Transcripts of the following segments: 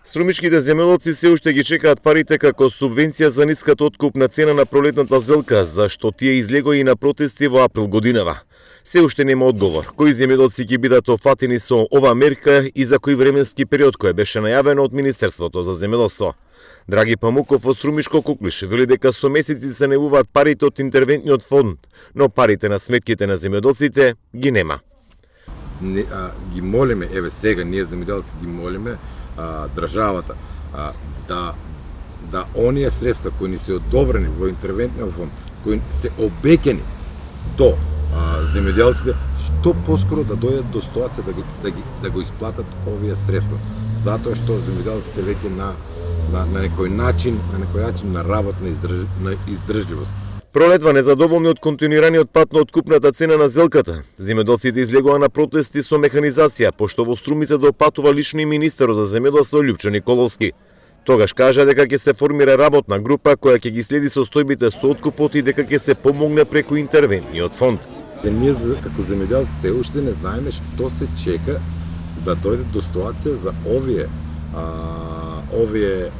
Струмичките земјоделци се уште ги чекаат парите како субвенција за ниската откупна цена на пролетната зелка, зашто тие излегоа и на протести во април годинава. Се уште нема одговор кои земјоделци ќе бидат офатени со оваа мерка и за кој временски период кој беше најавено од Министерството за земјоделство. Драги Памуков од Струмишко Куклиш вели дека со месеци се најавуваат парите од интервентниот фонд, но парите на сметките на земјоделците ги нема. Ги молиме, еве сега ние земјоделци ги молиме државата да оние средства кои ни се одобрени во интервентниот фонд, кои се обеќани до земјоделците, што поскоро да дојдат до ситуација да го исплатат овие средства, затоа што земјоделците се веќе на некој начин на работна издржливост. Пролетва незадоволни од континуираниот пат на откупната цена на зелката. Земјоделците излегоа на протести со механизација, пошто во Струмица допатува лично и министерот за земјоделство Љупчо Николовски. Тогаш кажа дека ќе се формира работна група која ќе ги следи состојбите со откупот и дека ќе се помогне преку интервентниот фонд. Ние како земјоделци се уште не знаеме што се чека да дојде до ситуација за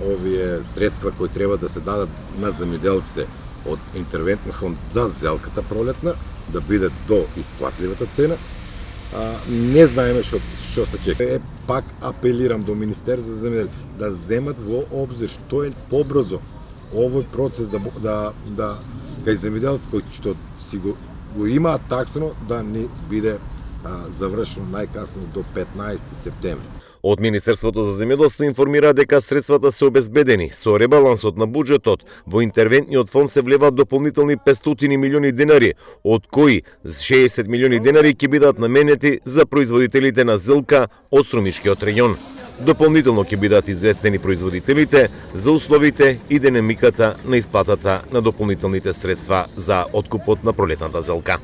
овие средства кои треба да се дадат на земјоделците од интервентен фонд за зелката пролетна, да биде до исплатливата цена. Не знаеме што се чека. Пак апелирам до Министерство за земјоделие да земат во обзир што е побрзо овој процес да кај земјоделците кои што си го имаат таксано да ни биде завршено најкасно до 15 септември. Од Министерството за земјоделство информира дека средствата се обезбедени. Со ребалансот на буџетот во интервентниот фонд се влеваат дополнителни 500 милиони денари, од кои 60 милиони денари ќе бидат наменети за производителите на зелка од Струмишкиот регион. Дополнително ќе бидат известени производителите за условите и динамиката на исплатата на дополнителните средства за откупот на пролетната зелка.